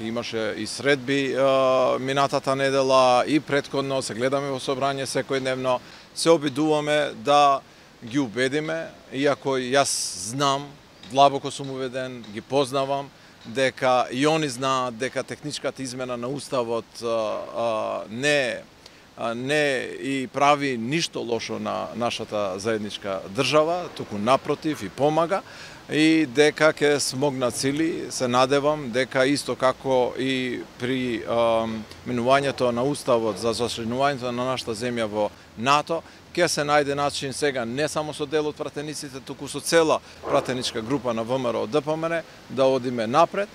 имаше и средби минатата недела и претходно, се гледаме во собрање секојдневно, се обидуваме да ги убедиме, иако јас знам, длабоко сум уведен, ги познавам, дека и они знаат дека техничката измена на Уставот не и прави ништо лошо на нашата заедничка држава, туку напротив и помага, и дека ќе смогнат сили, се надевам дека исто како и при менувањето на Уставот за зачленувањето на нашата земја во НАТО, ќе се најде начин сега не само со дел од пратениците, туку со цела пратеничка група на ВМРО ДПМН да одиме напред.